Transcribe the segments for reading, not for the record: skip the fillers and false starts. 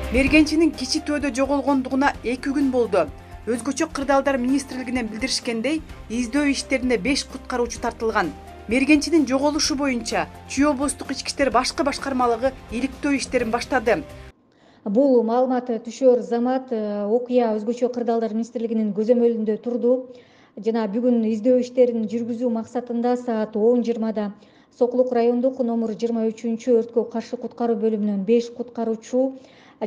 Мергенчинин кичи төөдө жоголгондугуна 2 күн болду. Өзгөчө кырдаалдар министрлигинен билдиришкендей, издөө иштерине 5 куткаруучу тартылган. Мергенчинин жоголушу боюнча Чүй облустук ички иштер башкы башкармалыгы иликтөө иштерин баштады. Бул маалымат түшөр замат окуя өзгөчө кырдаалдар министрлигинин көзөмөлүндө турду. Жана бүгүн издөө иштерин жүргүзүү максатында саат 10:20 Сокулук райондук номер 23 өрткө каршы куткаруу бөлүмүнөн 5 куткаруучу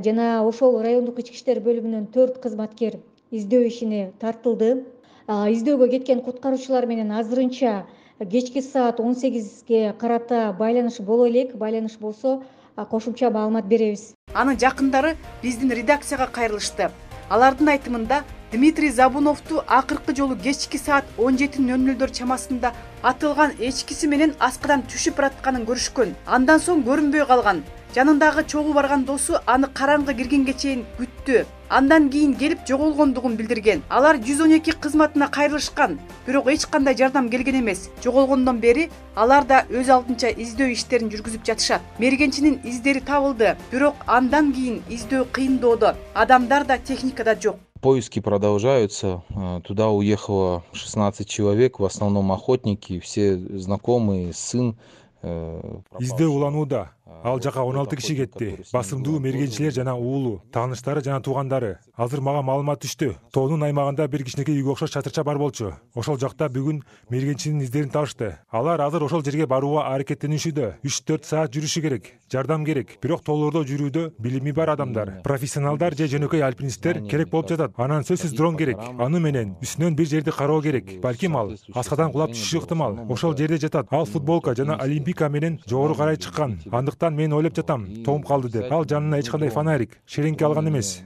жана ошол райондук ички иштер бөлүмүнөн 4 кызматкер издөө ишине тартылды. Издөөгө кеткен куткаруучулар менен азырынча кечки саат 18ге карата байланыш боло элек. Байланыш болсо кошумча маалымат беребиз. Анын жакындары биздин редакцияга кайрылышты. Алардын айтымында Дмитрий Забуновду акыркы жолу кечки саат 17:00 чамасында атылган эчкиси менен аскадан түшүп баратканын көрүшкөн. Андан соң көрүнбөй калган. Жанындагы чогуу барган досу аны караңгы киргенге чейин күттү. Андан кийин келип жоголгондугун билдирген. Алар 112 кызматына кайрылышкан, бирок эч кандай жардам келген эмес. Жоголгондон бери алар да өз алдынча издөө иштерин жүргүзүп жатышат. Мергенчинин издери табылды, бирок андан кийин издөө кыйындоодо. Адамдар да техника да жок. Поиски продолжаются. Туда уехало 16 человек, в основном охотники, все знакомые, сын. Издөө уланууда. Ал жака 16 киши кетти. Басымдуу мергенчилер жана уулу, тааныштары жана туугандары. Азыр мага маалымат түштү. Тоонун аймагында бир кичинекей үйгө окшош чатырча бар болчу. Ошол жакта бүгүн мергенчинин издерин табышты. Алар азыр ошол жерге барууга аракеттенишүүдө. 3-4 саат жүрүшү керек. Жардам керек. Бирок тоолордо жүрүүдө билими бар адамдар, профессионалдар же жөнөкөй альпинисттер керек болуп жатат. Анан сөзсүз дрон керек. Аны менен үстүнөн бир жерди кароо керек. Балким ал аскадан кулап түшүшү ыктымал. Ошол жерде жатат. Ал футболка жана олимпика менен жогору карай чыккан. Андыктан мен ойлоп жатам, тоом калды деп. Ал жанына эч кандай фонарик, шереңке алган эмес.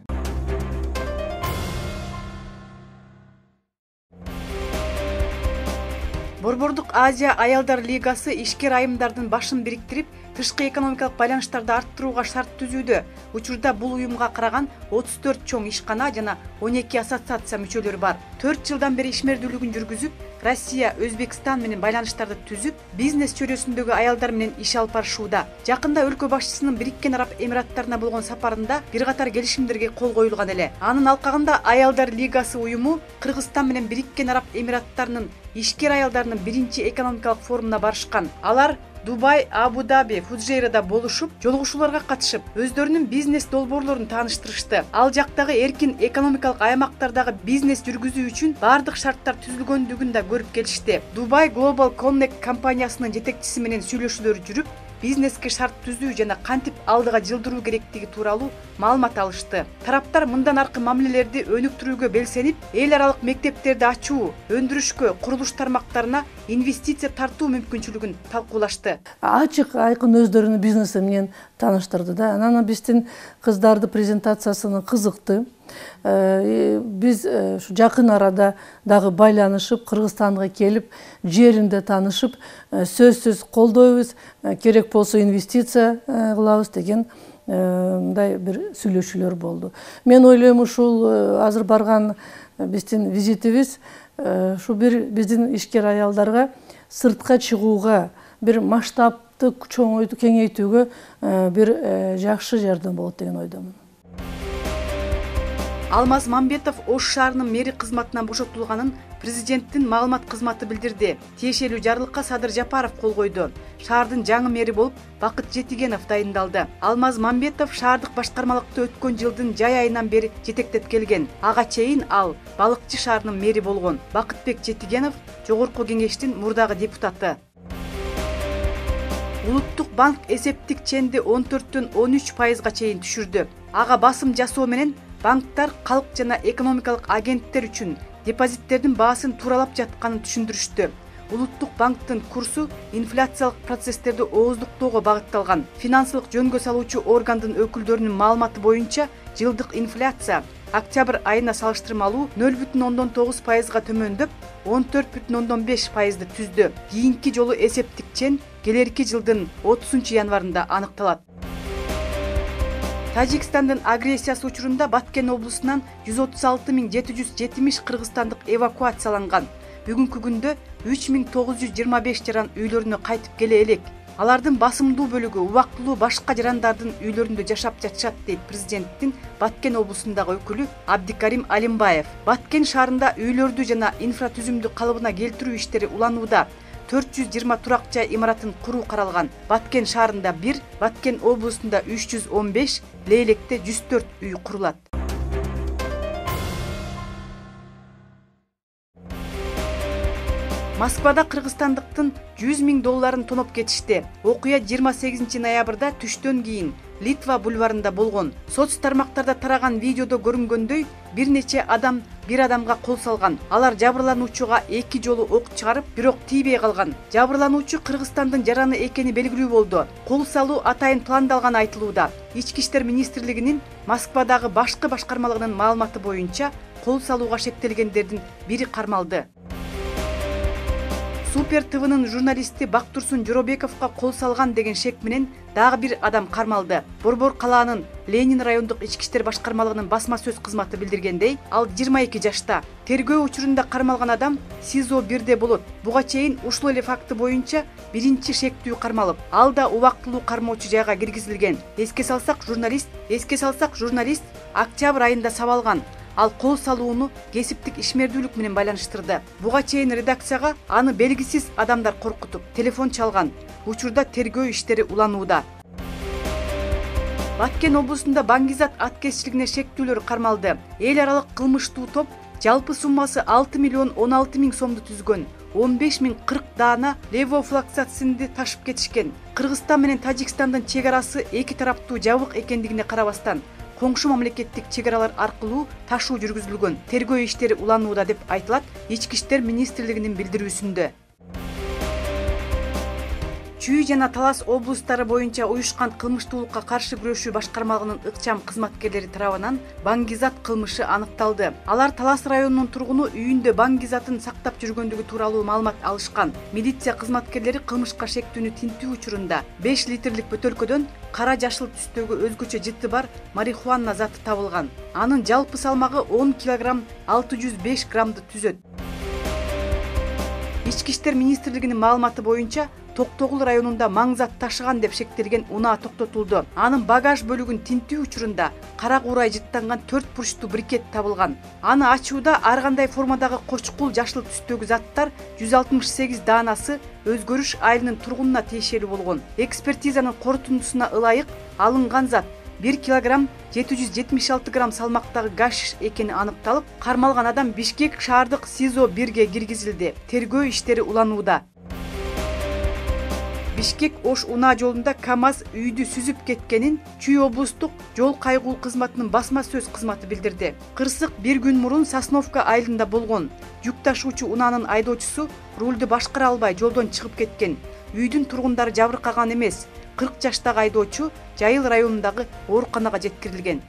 Борбордук Азия аялдар лигасы ишкер айымдардын башын бириктирип, тышкы экономикалык байланыштарды арттырууга шарт түзүүдө. Учурда бул уюмга караган 34 чоң ишкана жана 12 ассоциация мүчөлөрү бар. 4 жылдан бери ишмердүүлүгүн жүргүзүп, Россия, Өзбекстан менен байланыштарды түзүп, бизнес чөйрөсүндөгү аялдар менен иш алып барышууда. Жакында өлкө башчысынын Бириккен Араб Эмираттарына болгон сапарында бир катар келишимдерге кол коюлган эле. Анын алкагында аялдар лигасы уюму Кыргызстан менен Бириккен Араб Эмираттарынын ишкер аялдарынын биринчи экономикалык форумуна барышкан. Алар Дубай, Абу-Даби, Фуджейрада болушуп, жолугушууларга катышып, өздөрүнүн бизнес долбоорлорун тааныштырышты. Ал жактагы эркин экономикалык аймактардагы бизнес жүргүзүү үчүн бардык шарттар түзүлгөндүгүн да көрүп келишти. Dubai Global Connect компаниясынын жетекчиси менен сүйлөшүүлөр жүрүп, бизнеске шарт түзүү жана кантип алдыга жылдыруу керектиги тууралуу маалымат алышты. Тараптар мындан аркы мамилелерди өнүктүрүүгө белсенип, эл аралык мектептерди ачуу, өндүрүшкө, курулуш тармактарына инвестиция тартуу мүмкүнчүлүгүн талкуулашты. Ачык айкын өздөрүнүн бизнеси менен тааныштырды да. Анан биздин кыздарды презентациясына кызыкты. Биз ушу жакын арада дагы байланышып, Кыргызстанга келип, жеринде таанышып, сөзсүз колдойбуз, керек болсо инвестиция кылабыз деген мындай бир сүйлөшүүлөр болду. Мен ойлойм ушул азыр барган биздин визитибиз ушу бир биздин ишкер аялдарга сыртка чыгууга, бир масштабты чоңойтуу, кеңейтүүгө бир жакшы жардам болот деген ойдомун. Алмаз Мамбетов Ош шаарынын мэри кызматынан бошотулганын президенттин маалымат кызматы билдирди. Тиешелүү жарлыкка Садыр Жапаров кол койду. Шаардын жаңы мэри болуп Бакыт Жетигенов дайындалды. Алмаз Мамбетов шаардык башкармалыкты өткөн жылдын жай айынан бери жетектеп келген. Ага чейин ал Балыкчы шаарынын мэри болгон. Бакытбек Жетигенов Жогорку кеңештин мурдагы депутаты. Улуттук банк эсептик ченди 14-төн 13% чейин түшүрдү. Ага басым жасоо менен банктар калк жана экономикалык агенттер үчүн депозиттердин баасын тууралап жатканын түшүндүрүштү. Улуттук банктын курсу инфляциялык процесстерди ооздуктоого багытталган. Финансылык жөнгө салуучу органдын өкүлдөрүнүн маалыматы боюнча жылдык инфляция октябрь айына салыштырмалуу 0,9%га төмөндөп, 14,5%ды түздү. Кийинки жолу эсептик чен келерки жылдын 30 январында аныкталат. Тажикстандын агрессиясы учурунда Баткен облусунан 136.770 кыргызстандык эвакуацияланган. Бүгүнкү күндө 3925 жаран үйлөрүнө кайтып келе элек. Алардын басымдуу бөлүгү убактылуу башка жарандардын үйлөрүндө жашап жатышат, дейт президенттин Баткен облусундагы өкүлү Абдикарим Алимбаев. Баткен шаарында үйлөрдү жана инфратүзүмдү калыбына келтирүү иштери уланууда. 420 турак жай имаратын куруу каралган. Баткен шаарында 1, Баткен облусунда 315, Лейлекте 104 үй курулат. Москвада кыргызстандыктын $100,000 тоноп кетишти. Окуя 28 ноябрда түштөн кийин Литва бульварында болгон. Соц тармактарда тараган видеодо көрүнгөндөй, бир нече адам бир адамга кол салган. Алар жабырлануучуга 2 жолу ок чыгарып, бирок тийбей калган. Жабырлануучу Кыргызстандын жараны экени белгилүү болду. Кол салуу атайын пландалганы айтылууда. Ички иштер министрлигинин Москвадагы башкы башкармалыгынын маалыматы боюнча, кол салууга шектелгендердин бири кармалды. Супер ТВнын журналисти Бактурсун Жоробековго кол салган деген шек менен дагы бир адам кармалды. Борбор калаанын Ленин райондук ички иштер башкармалыгынын басма сөз кызматы билдиргендей, ал 22 жашта. Тергөө учурунда кармалган адам СИЗО 1де болот. Буга чейин ушул эле факты боюнча биринчи шектүү кармалып, ал да убактылуу кармоочу жайга киргизилген. Эске салсак, журналист октябрь айында сабалган. Ал кол салууну кесиптик ишмердүүлүк менен байланыштырды. Буга чейин редакцияга аны белгисиз адамдар коркутуп, телефон чалган. Учурда тергөө иштери уланууда. Баткен облусунда Баңгизат аткезчилигине шектүүлөр кармалды. Эл аралык кылмыштуу топ жалпы суммасы 6,16,000 сомду түзгөн. 15,040 даана левофлоксацинди ташып кетишкен. Кыргызстан менен Тажикстандын чек арасы эки тараптуу жабык экендигине карабастан, коңшу мамлекеттик чек аралар аркылуу ташуу жүргүзүлгөн. Тергөө иштери уланууда деп айтылат Ички иштер министрлигинин билдирүүсүндө. Чүй жана Талас облустары боюнча уюшкан кылмыштуулукка каршы күрөшүү башкармалыгынын ыкчам кызматкерлери тарабынан Баңгизат кылмышы аныкталды. Алар Талас районунун тургуну үйүндө Баңгизатын сактап жүргөндүгү тууралуу маалымат алышкан. Милиция кызматкерлери кылмышка шектүүнү тинтүү учурунда 5 литрлик бөтөлкөдөн кара жашыл түстөгү өзгөчө жыты бар марихуана заты табылган. Анын жалпы салмагы 10 кг 605 граммды түзөт. Ички иштер министрлигинин маалыматы боюнча Токтогул районунда маңзат ташыган деп шектелген унаа токтотулду. Анын багаж бөлүгүн тинтүү учурунда кара куурай жыттанган 4 бурчтуу брикет табылган. Аны ачууда ар кандай формадагы кочкул жашыл түстөгү заттар 168 даанасы Өзгөрүш айылынын тургунуна тиешелүү болгон. Экспертизанын корутундусуна ылайык алынган зат 1 кг 776 грамм салмактагы гашиш экени аныкталып, кармалган адам Бишкек шаардык СИЗО 1ге киргизилди. Тергөө иштери уланууда. Бишкек Ош унаа жолунда КАМАЗ үйдү сүзүп кеткенин Чүй облустук жол кайгуу кызматынын басма сөз кызматы билдирди. Кырсык бир күн мурун Сосновка айылында болгон. Жүк ташуучу унаанын айдоочусу рулду башкара албай жолдон чыгып кеткен. Үйдүн тургундары жабыркаган эмес. 40 жаштагы айдоочу Жайыл районундагы ооруканага жеткирилген.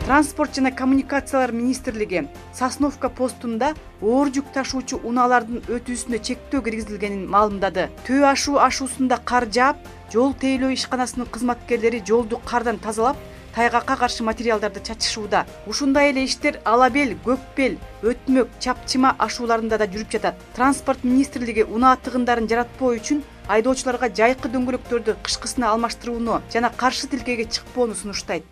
Транспорт жана коммуникациялар министрлиги Сосновка постунда оор жүк ташуучу унаалардын өтүүсүнө чектөө киргизилгенин маалымдады. Төө ашуусунда кар жаап, жол тейлөө ишканасынын кызматкерлери жолду кардан тазалап, тайгакка каршы материалдарды чачышууда. Ушундай эле иштер Ала бел, Көк бел, Өтмөк, Чапчыма ашууларында да жүрүп жатат. Транспорт министрлиги унаа тыгындарын жаратпоо үчүн айдоочуларга жайкы дөңгөлөктөрдү кышкысына алмаштырууну жана каршы тилкеге чыкпоону сунуштайт.